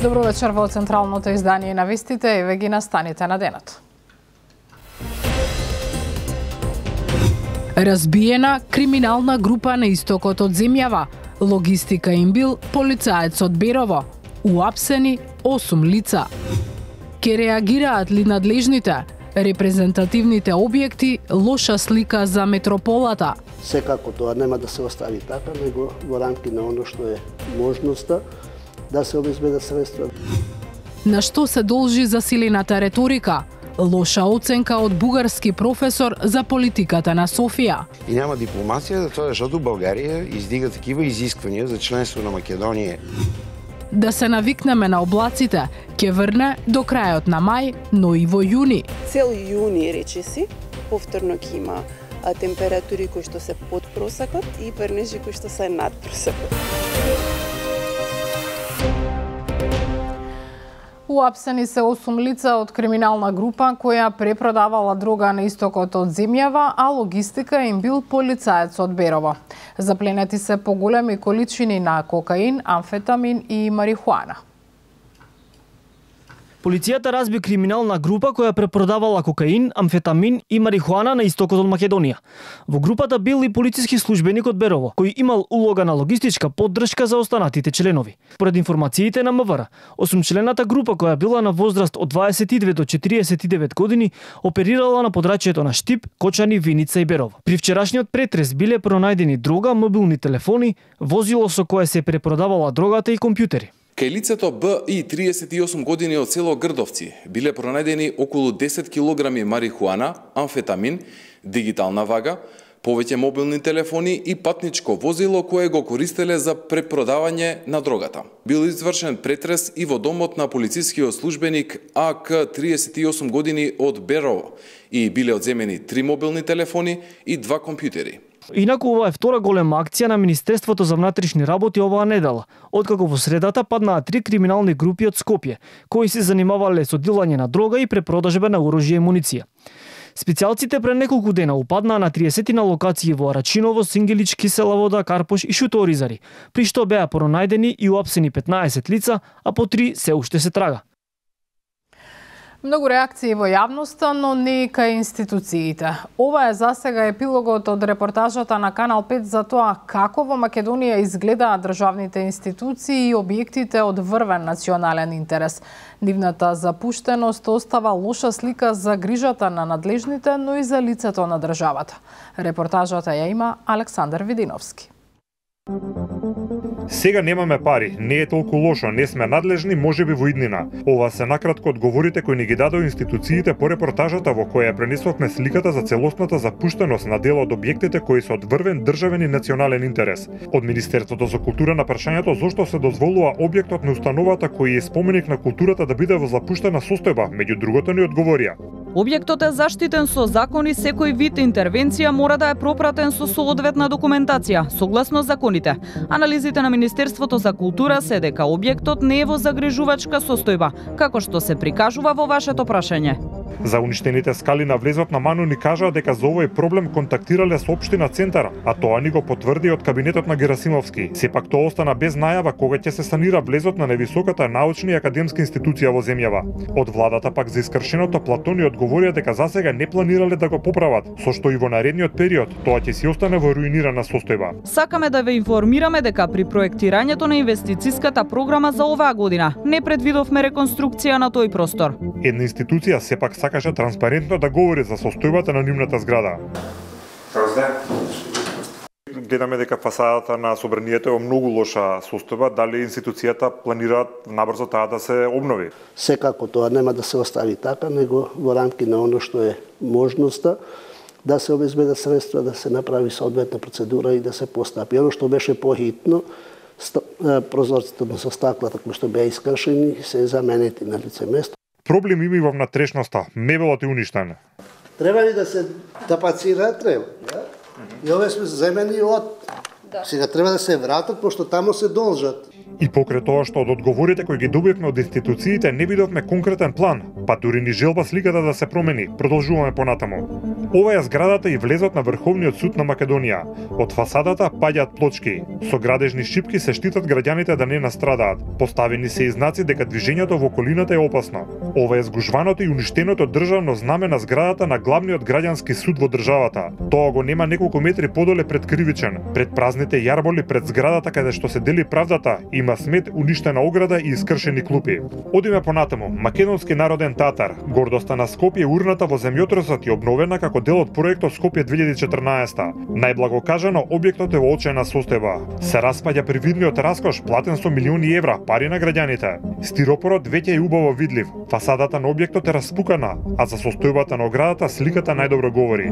Добро вечер во централното издание на вестите, еве ги настаните на денот. Разбиена криминална група на истокот од земјава. Логистика им бил полицаец од Берово. Уапсени 8 лица. Ке реагираат ли надлежните? Репрезентативните објекти, лоша слика за метрополата. Секако тоа нема да се остави така, него во рамки на оно што е можноста да се обезбедат средства. На што се должи засилената реторика? Лоша оценка од бугарски професор за политиката на Софија. И нема дипломација, затоа што Българија издига такива изисквања за членство на Македонија. Да се навикнеме на облаците, ќе врне до крајот на мај, но и во јуни. Цел јуни, речиси, повторно ќе има температури кои што се под просекот и пернежи кои што се над просекот. Уапсени се 8 лица од криминална група која препродавала дрога на истокот од земјава, а логистика им бил полицаец од Берово. Запленети се поголеми количини на кокаин, амфетамин и марихуана. Полицијата разби криминална група која препродавала кокаин, амфетамин и марихуана на истокот од Македонија. Во групата бил и полициски службеник од Берово, кој имал улога на логистичка поддршка за останатите членови. Според информациите на МВР, 8-члената група која била на возраст од 22 до 49 години оперирала на подрачјето на Штип, Кочани, Виница и Берово. При вчерашниот претрес биле пронајдени дрога, мобилни телефони, возило со кое се препродавала дрогата и компјутери. Кај лицето Б и 38 години од село Грдовци биле пронајдени околу 10 килограми марихуана, амфетамин, дигитална вага, повеќе мобилни телефони и патничко возило кое го користеле за препродавање на дрогата. Бил извршен претрес и во домот на полицискиот службеник АК 38 години од Берово и биле одземени 3 мобилни телефони и 2 компјутери. Инаку ова е втора голема акција на Министерството за внатрешни работи оваа недела, откако во средата паднаа 3 криминални групи од Скопје, кои се занимавале со дилање на дрога и препродажба на оружје и муниција. Специјалците пред неколку дена упаднаа на 30 на локации во Арачиново, Сингелич, Киселавода, Карпош и Шуторизари, при што беа пронајдени и уапсени 15 лица, а по 3 се уште се трага. Многу реакции во јавноста, но не и кај институциите. Ова е засега епилогот од репортажата на Канал 5 за тоа како во Македонија изгледаат државните институции и објектите од врвен национален интерес. Нивната запуштеност остава лоша слика за грижата на надлежните, но и за лицето на државата. Репортажата ја има Александар Видиновски. Сега немаме пари, не е толку лошо, не сме надлежни, можеби во иднина. Ова се накратко одговорите кои ни ги дадоа институциите по репортажата во која пренесовме сликата за целосната запуштеност на дел од објектите кои се од врвен државен и национален интерес. Од Министерството за култура на прашањето зошто се дозволува објектот на установата кој е споменик на културата да биде во запуштена состојба, меѓу другото ни одговорија. Објектот е заштитен со закон и секој вид интервенција мора да е пропратен со соодветна документација, согласно законите. Анализите на Министерството за култура се дека објектот не е во загрижувачка состојба, како што се прикажува во вашето прашање. За уништените скали на влезот на Ману ни кажаа дека за овој проблем контактирале со општина Центар, а тоа ни го потврди од кабинетот на Герасимовски. Сепак тоа остана без најава кога ќе се санира влезот на највисоката научна и академска институција во земјава. Од владата пак за искршеното плато ни одговорија дека засега не планирале да го поправат, со што и во наредниот период тоа ќе си остане во руинирана состојба. Сакаме да ве информираме дека при проектирањето на инвестициската програма за оваа година не предвидовме реконструкција на тој простор. Една институција сепак сакаше транспарентно да говори за состојбата на нивната зграда. Гледаме дека фасадата на собранието е во многу лоша состојба, дали институцијата планираат набрзо таа да се обнови? Секако тоа нема да се остави така, него во рамки на оно што е можноста да се обезбедат средства, да се направи соодветна процедура и да се постапи. Оно што беше похитно, прозорците со стаклата кои што беа искршени се заменети на лице место. Проблем има и во внатрешноста. Мебелот е уништен. Треба ли да се тапацира? Треба. Да? И овие сме земени од... Сега треба да се вратат, пошто тамо се должат. И покрај тоа што од одговорите кои ги добивме од институциите не видовме конкретен план, па дури ни желба сликата да се промени. Продолжуваме понатаму. Ова е зградата и влезот на Врховниот суд на Македонија. Од фасадата паѓаат плочки. Со градежни шипки се штитат граѓаните да не настрадаат. Поставени се и знаци дека движењето во околината е опасно. Ова е згужваното и уништеното државно знаме на зградата на главниот граѓански суд во државата. Тоа го нема неколку метри подоле пред Кривичен. Пред празните јарболи пред зградата каде што се дели правдата има смет, уништена ограда и искршени клупи. Одиме понатаму. Македонски народен театар. Гордоста на Скопје урната во земјотресот и обновена како дел од проектот Скопје 2014. Најблагокажано објектот е во очена состојба. Се распаѓа привидниот раскош платен со милиони евра, пари на граѓаните. Стиропорот веќе е убаво видлив. Фасадата на објектот е распукана, а за состојбата на оградата сликата најдобро говори.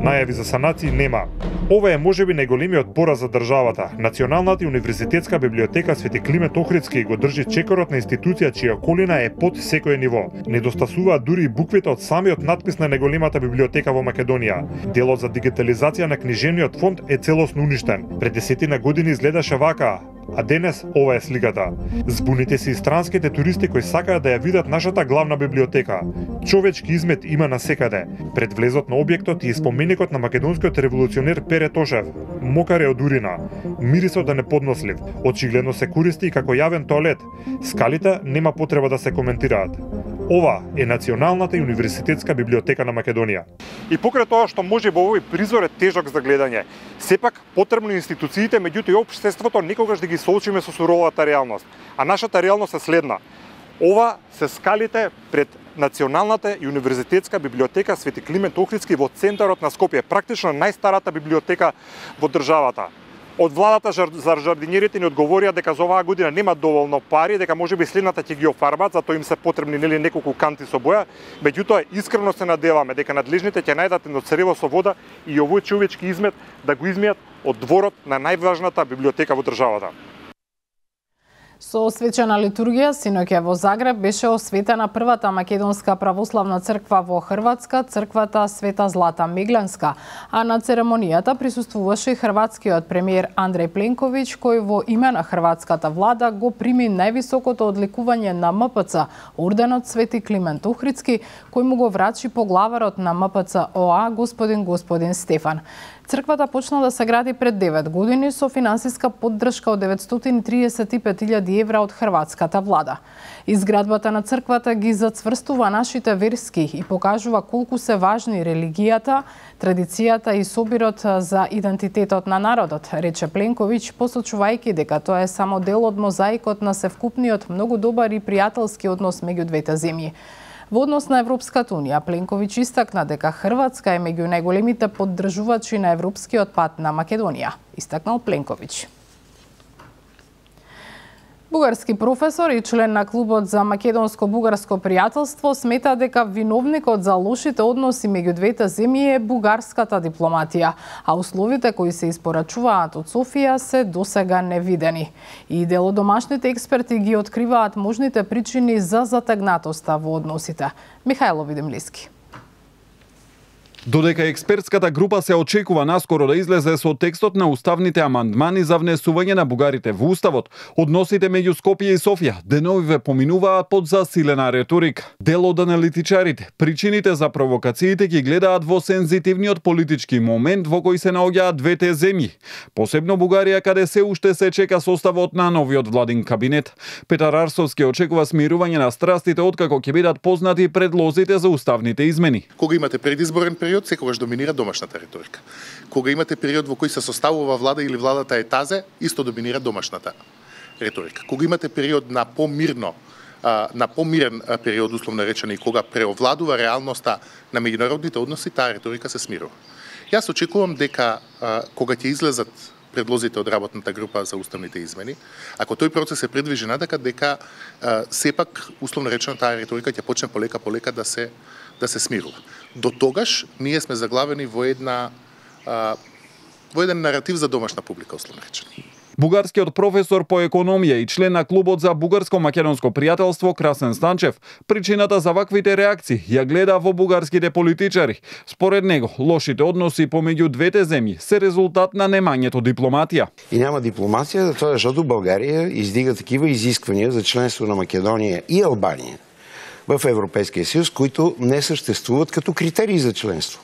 Најави за санации нема. Ова е можеби најголемиот пораз за државата. Националната и универзитетска библиотека Свети Климент Охридски го држи чекорот на институција чија околина е под секое ниво. Недостасуваат дури и буквите од самиот надпис на најголемата библиотека во Македонија. Делот за дигитализација на книжевниот фонд е целосно уништен. Пред 10 години изгледаше вака, а денес ова е сликата. Збуните се и странските туристи кои сакаат да ја видат нашата главна библиотека. Човечки измет има насекаде. Пред влезот на објектот и споменикот на македонскиот револуционер Пере Тошев. Мокар е од урина. Мирисот е неподнослив. Очигледно се користи и како јавен тоалет. Скалите нема потреба да се коментираат. Ова е Националната и универзитетска библиотека на Македонија. И покрај тоа што може во овој призор е тежок за гледање, сепак потребно институциите, меѓутоа и општеството некогаш да ги соочиме со суровата реалност. А нашата реалност е следна. Ова се скалите пред Националната и универзитетска библиотека Свети Климент Охридски во центарот на Скопје, практично најстарата библиотека во државата. Од владата за жардинерите ни одговорија дека за оваа година нема доволно пари, дека можеби следната ќе ги офарбат, затоа им се потребни неколку канти со боја, меѓутоа искрено се надеваме дека надлежните ќе најдат едно црево со вода и овој човечки измет да го измијат од дворот на најважната библиотека во државата. Со свечена литургија синоќа во Загреб беше осветена првата македонска православна црква во Хрватска, црквата Света Злата Мегленска, а на церемонијата присуствуваше и хрватскиот премиер Андреј Пленковиќ, кој во име на хрватската влада го прими највисокото одликување на МПЦ, орденот Свети Климент Охридски, кој му го врачи поглаварот на МПЦ ОА господин Стефан. Црквата почна да се гради пред 9 години со финансиска поддршка од 935.000 евра од хрватската влада. Изградбата на црквата ги зацврстува нашите верски и покажува колку се важни религијата, традицијата и собирот за идентитетот на народот, рече Пленковиќ, посочувајќи дека тоа е само дел од мозаикот на севкупниот многу добар и пријателски однос меѓу двете земји. Во однос на Европската унија, Пленковиќ истакна дека Хрватска е меѓу најголемите поддржувачи на европскиот пат на Македонија, истакнал Пленковиќ. Бугарски професор и член на клубот за македонско-бугарско пријателство смета дека виновникот за лошите односи меѓу двете земји е бугарската дипломатија, а условите кои се испорачуваат од Софија се досега невидени. И дел од домашните експерти ги откриваат можните причини за затегнатоста во односите. Михајло Видемлиски. Додека експертската група се очекува наскоро да излезе со текстот на уставните амандмани за внесување на бугарите во уставот, односите меѓу Скопје и Софија деновиве поминуваат под засилена реторика. Дел од аналитичарите причините за провокациите ги гледаат во сензитивниот политички момент во кој се наоѓаат двете земји, посебно Бугарија каде се уште се чека составот на новиот владин кабинет. Петар Арсовски очекува смирување на страстите откако ќе бидат познати предлозите за уставните измени. Кога имате предизборен период, секогаш доминира домашната риторика. Кога имате период во кој се составува влада или владата е тазе, исто доминира домашната риторика. Кога имате период на помирен период, условно речено, и кога преовладува реалноста на меѓународните односи, таа риторика се смирува. Јас очекувам дека кога ќе излезат предлозите од работната група за уставните измени, ако тој процес се придвижи надека, дека сепак, условно речено, таа риторика ќе почне полека да се смирува. До тогаш ние сме заглавени во еден наратив за домашна публика, условно речено. Бугарскиот професор по економија и член на клубот за бугарско-македонско пријателство Красен Станчев причината за ваквите реакции ја гледа во бугарските политичари. Според него, лошите односи помеѓу двете земји се резултат на немањето дипломатија. И нема дипломација, затоа зашто Българија издига такива изисквања за членство на Македонија и Албанија в Европейския съюз, които не съществуват като критерии за членство.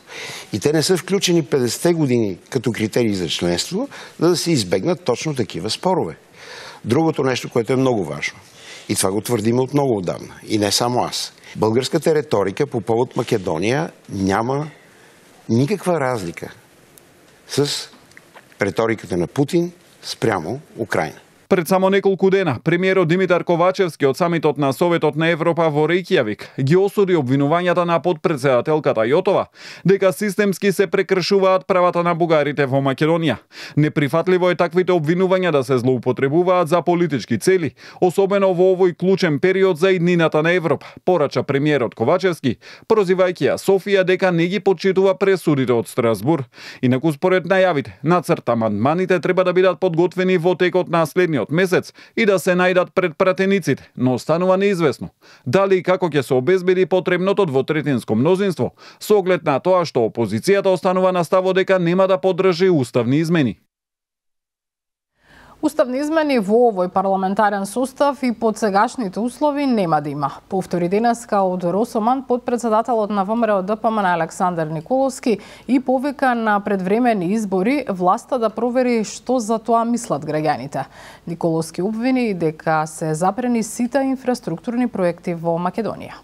И те не са включени 50-те години като критерии за членство, за да се избегнат точно такива спорове. Другото нещо, което е много важно, и това го твърдим от много отдавна, и не само аз. Българската риторика по повод Македония няма никаква разлика с риториката на Путин спрямо Украина. Пред само неколку дена, премиерот Димитар Ковачевски од самитот на Советот на Европа во Рејкјавик ги осуди обвинувањата на подпредседателката Јотова дека системски се прекршуваат правата на бугарите во Македонија. Неприфатливо е таквите обвинувања да се злоупотребуваат за политички цели, особено во овој клучен период за иднината на Европа, порача премиерот Ковачевски, прозивајќи ја Софија дека не ги почитува пресудите од Страсбур. Инаку според најавите, нацрт амандманите треба да бидат подготвени во текот на следниот месец и да се најдат пред пратениците, но останува неизвестно дали и како ќе се обезбеди потребното двотретинско мнозинство, со оглед на тоа што опозицијата останува на ставот дека нема да поддржи уставни измени. Уставни измени во овој парламентарен состав и под сегашните услови нема да има. Повтори денеска од Росоман подпредседателот на ВМРО ДПМН Александар Николовски и повика на предвремени избори власта да провери што за тоа мислат граѓаните. Николовски обвини дека се запрени сите инфраструктурни проекти во Македонија.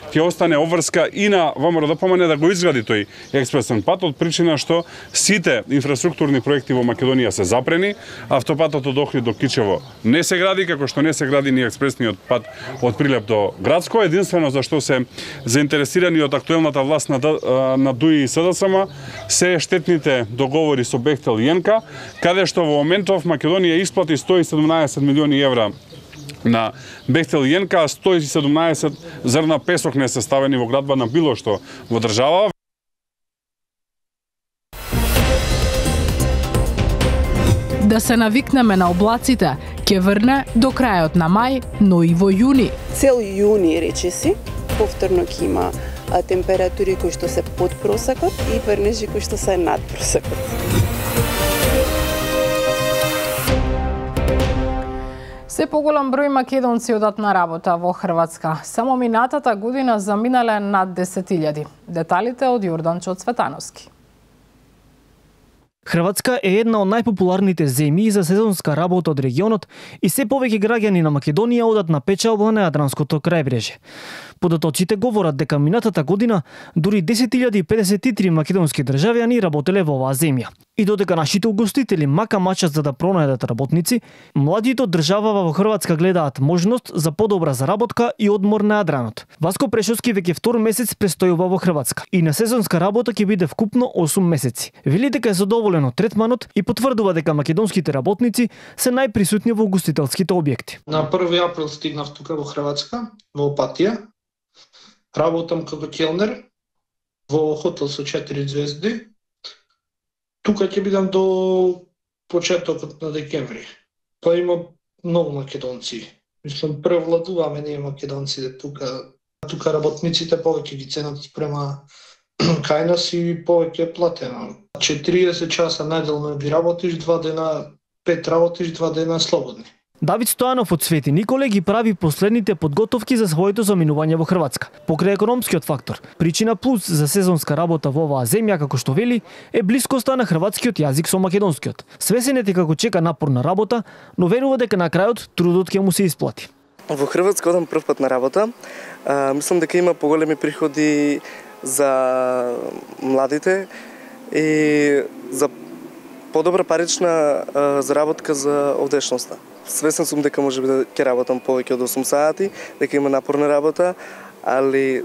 Ќе остане обврска и на ВМРО ДПМН да го изгради тој експресен пат од причина што сите инфраструктурни проекти во Македонија се запрени, автопатот од Охрид до Кичево не се гради, како што не се гради ни експресниот пат од Прилеп до Градско, единствено за што се заинтересирани од актуелната власт на ДУИ и СДСМ се штетните договори со Бехтел и ЕНКА, каде што во моментов Македонија исплати 117 милиони евра на Бехтел и ЕНКА, 117 зрна песок не се ставени во градба на било што во држава. Да се навикнеме на облаците, ќе врне до крајот на мај, но и во јуни. Цел јуни, речиси, повторно ќе има температури кои што се под просекот и врнежи кои што се над просекот. Се поголем број македонци одат на работа во Хрватска. Само минатата година заминале над 10.000. Деталите од Јорданчо Цветановски. Хрватска е една од најпопуларните земји за сезонска работа од регионот и се повеќе граѓани на Македонија одат на печалба на Јадранското крајбрежје. Податоците говорат дека минатата година дури 10.053 македонски државјани работеле во оваа земја. И додека нашите угостители мака мачат за да пронајдат работници, младите од државава во Хрватска гледаат можност за подобра заработка и одмор на Јадранот. Васко Прешовски веќе втор месец престојува во Хрватска и на сезонска работа ќе биде вкупно 8 месеци. Вели дека е задоволен од третманот и потврдува дека македонските работници се најприсутни во угостителските објекти. На 1 април стигнав тука во Хрватска, во Опатија. Работам како келнер во хотел со 4 звезди. Тука ќе бидам до почетокот на декември. Па има многу македонци. Мислам, превладуваме ние македонците тука. Тука работниците повеќе ги ценат спрема кај нас и повеќе платено. 40 часа неделно ги работиш, 2 дена, 5 работиш, 2 дена слободни. Давид Стојанов од Свети Николе ги прави последните подготовки за своето заминување во Хрватска. Покрај економскиот фактор, причина плюс за сезонска работа во оваа земја, како што вели, е блискоста на хрватскиот јазик со македонскиот. Свесен е како чека напорна работа, но верува дека на крајот трудот ќе му се исплати. Во Хрватска одам прв пат на работа. Мислам дека има поголеми приходи за младите и за подобра парична заработка за овдешноста. Свесен сум дека можеби да ќе работам повеќе од 8 сати, дека има напорна работа, али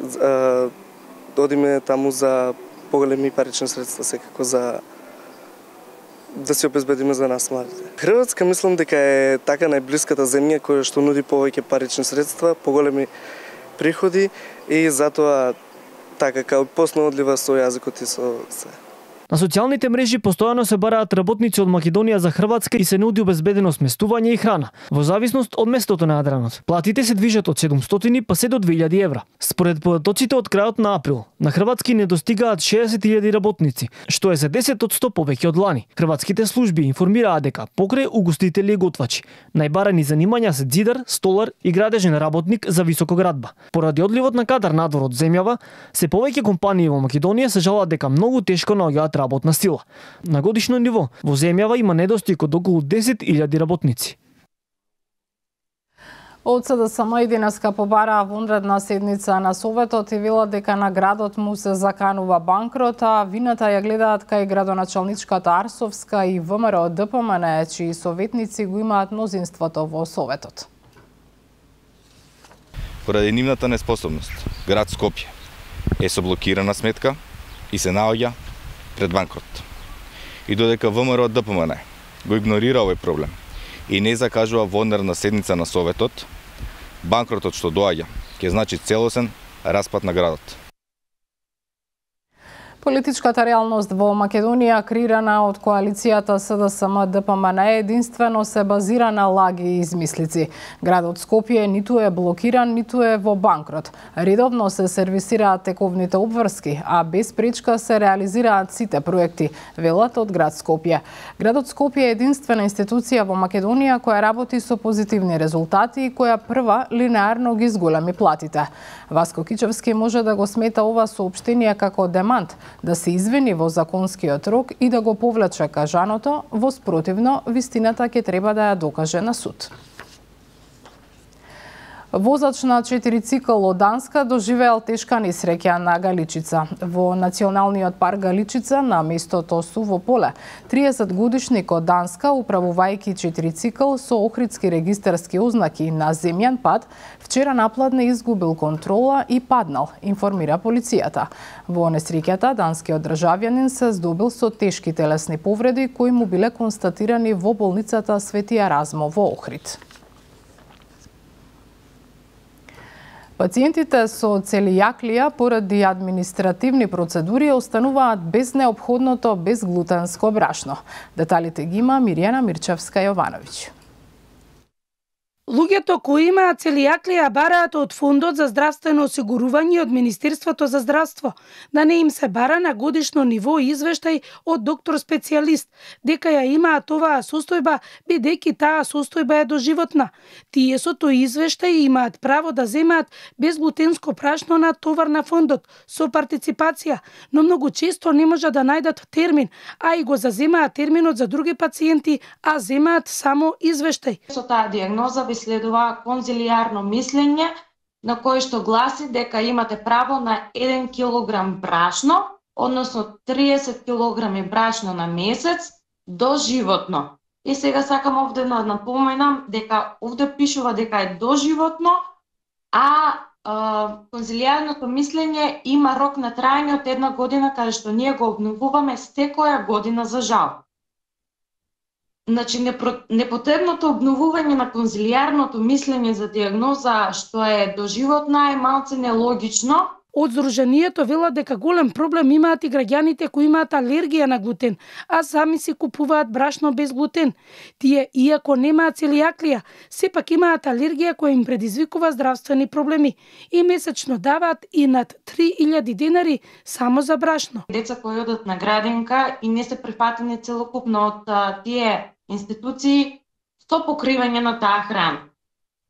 одиме таму за поголеми парични средства, секако за да се обезбедиме за нас младите. Хрватска мислам дека е така најблиската земја која што нуди повеќе парични средства, поголеми приходи и затоа така као поснаодлива со јазикот и со се. На социјалните мрежи постојано се бараат работници од Македонија за Хрватска и се нуди обезбедено сместување и храна, во зависност од местото на Јадранот. Платите се движат од 700 па се до 2000 евра. Според податоците од крајот на април, на Хрватски недостигаат 60.000 работници, што е за 10% повеќе од лани. Хрватските служби информираа дека покрај угостители и готвачи, најбарани занимања се ѕидар, столар и градежен работник за високоградба. Поради одливот на кадар надвор од земјава, се повеќе компании во Македонија се жалат дека многу тешко наоѓаат работна сила. На годишно ниво, во земјава има недостиг од околу 10.000 работници. Од СДСМ и денеска побараа вонредна седница на Советот и велат дека на градот му се заканува банкрот, а вината ја гледаат кај градоначалничката Арсовска и ВМРО ДПМН, чии советници го имаат мнозинството во Советот. Поради нивната неспособност, град Скопје е со блокирана сметка и се наоѓа пред банкрот. И додека ВМРО ДПМН го игнорира овој проблем и не закажува вонредна седница на Советот, банкротот што доаѓа ќе значи целосен распад на градот. Политичката реалност во Македонија, креирана од коалицијата СДСМ ДПМН, единствено се базира на лаги и измислици. Градот Скопје ниту е блокиран, ниту е во банкрот. Редовно се сервисираат тековните обврски, а без пречка се реализираат сите проекти, велат од град Скопје. Градот Скопје е единствена институција во Македонија која работи со позитивни резултати и која прва линеарно ги зголеми платите. Васко Кичевски може да го смета ова соопштение како демант, да се извини во законскиот рок и да го повлече кажаното, во спротивно вистината ќе треба да ја докаже на суд. Возач на 4 цикл од Данска доживеал тешка несреќа на Галичица. Во Националниот парк Галичица, на местото Суво поле, 30-годишник од Данска, управувајќи 4 цикл со охридски регистарски ознаки на земјан пат, вчера напладне изгубил контрола и паднал, информира полицијата. Во несреќата, данскиот државјанин се здобил со тешки телесни повреди кои му биле констатирани во болницата Свети Еразмо во Охрид. Пациентите со целијаклија поради административни процедури остануваат без неопходното безглутенско брашно. Деталите ги има Мирјана Мирчевска-Јовановиќ. Луѓето кои имаат целијаклија бараат од Фондот за здравствено осигурување од Министерството за здравство да не им се бара на годишно ниво извештај од доктор специјалист дека ја имаат оваа состојба, бидејќи таа состојба е доживотна. Тие со тој извештај имаат право да земаат безглутенско прашно на товар на фондот со партиципација, но многу често не можат да најдат термин, а и го заземаат терминот за други пациенти, а земаат само извештај. Со таа дијагноза следува конзилијарно мислење на кое што гласи дека имате право на 1 килограм брашно, односно 30 килограми брашно на месец доживотно. И сега сакам овде да напоменам дека овде пишува дека е доживотно, а конзилијарното мислење има рок на трајање од 1 година, каде што ние го обновуваме секоја година за жал. Значи, непотребното обновување на конзилијарното мислење за дијагноза што е доживотна е малце нелогично. Од Здруженијето велат дека голем проблем имаат и граѓаните кои имаат алергија на глутен, а сами си купуваат брашно без глутен. Тие, иако немаат целијаклија, сепак имаат алергија која им предизвикува здравствени проблеми и месечно даваат и над 3000 денари само за брашно. Деца кои одат на градинка и не се прифатени целокупно од тие институции со покривање на таа храна.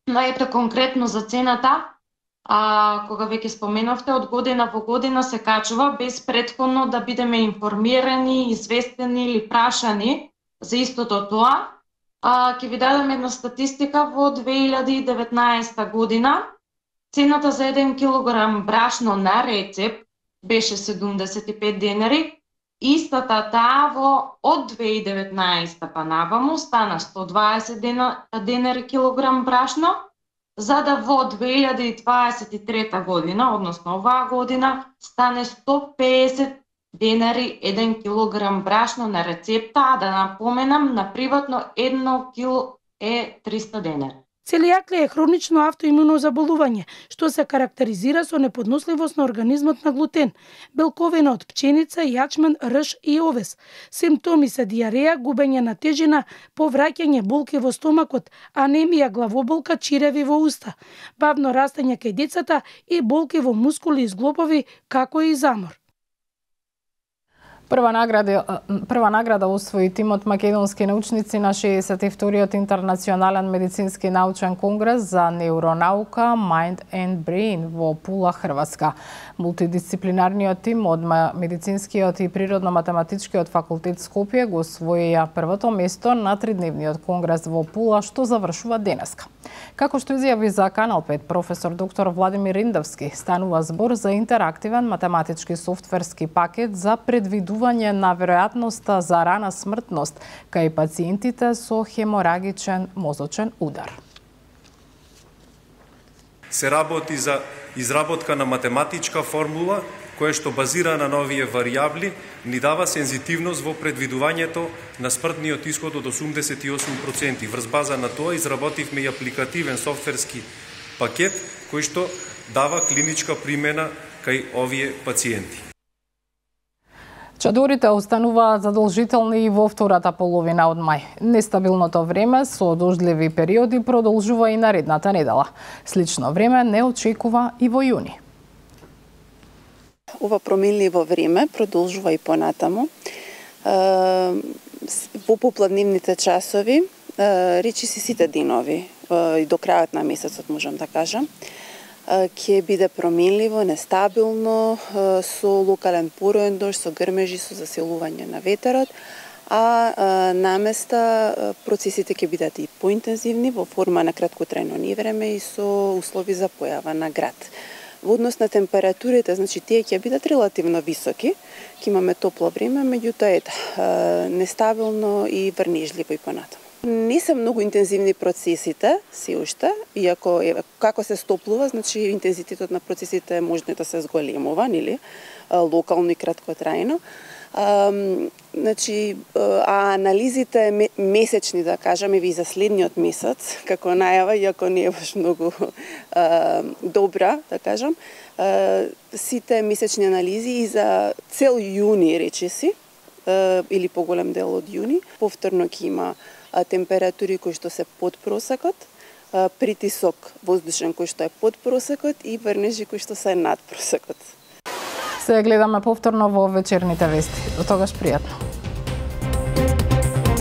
Но ето конкретно за цената, кога веќе споменавте, од година во година се качува без претходно да бидеме информирани, известени или прашани за истото тоа. Ќе ви дадам една статистика. Во 2019 година цената за 1 килограм брашно на рецеп беше 75 денари. Истата таа од 2019 па наваму стана 120 денари килограм брашно, за да во 2023 година, односно оваа година, стане 150 денари 1 килограм брашно на рецепта, а да напоменам, на приватно 1 кило е 300 денари. Целијаклија е хронично автоимуно заболување, што се карактеризира со неподносливост на организмот на глутен, белковина од пченица, јачмен, рж и овес. Симптоми се диареја, губење на тежина, повраќање, болки во стомакот, анемија, главоболка, чиреви во уста, бавно растење кај децата и болки во мускули и зглобови, како и замор. Прва награда усвои тимот македонски научници на 62-тиот интернационален медицински научен конгрес за неуронаука Mind and Brain во Пула, Хрватска. Мултидисциплинарниот тим од медицинскиот и природно-математичкиот факултет Скопје го освоија првото место на тридневниот конгрес во Пула, што завршува денеска. Како што изјави за Канал 5 професор доктор Владимир Риндовски, станува збор за интерактивен математички софтверски пакет за предвидување на веројатноста за рана смртност кај пациентите со хеморагичен мозочен удар. Се работи за изработка на математичка формула која што базира на новие варијабли ни дава сензитивност во предвидувањето на смртниот исход од 88%. Врз база на тоа изработивме и апликативен софтверски пакет кој што дава клиничка примена кај овие пациенти. Чадорите остануваат задолжителни и во втората половина од мај. Нестабилното време со дождливи периоди продолжува и наредната недела. Слично време не очекува и во јуни. Ова променливо време продолжува и понатаму. Во попладневните часови, речиси сите денови, и до крајот на месецот можам да кажам, ќе биде променливо, нестабилно, со локален пороен дожд, со грмежи, со засилување на ветерот, а наместа процесите ќе бидат и поинтензивни во форма на краткотрајно невреме и со услови за појава на град. Во однос на температурите, значи тие ќе бидат релативно високи, ќе имаме топло време, меѓутоа нестабилно и врнежливо и понатаму. Не се многу интензивни процесите, се уште, иако како се стоплува, значи интензитетот на процесите може да се зголемува, нели, локално и краткотрајно. Значи, анализите месечни, да кажаме, и за следниот месец, како најава, иако не е баш многу добра, да кажам, сите месечни анализи и за цел јуни, речеси, или поголем дел од јуни, повторно ќе има температури кои што се под просекот, притисок воздушен кој што е под просекот и врнежи кои што се над просекот. Се гледаме повторно во вечерните вести. До тогаш пријатно.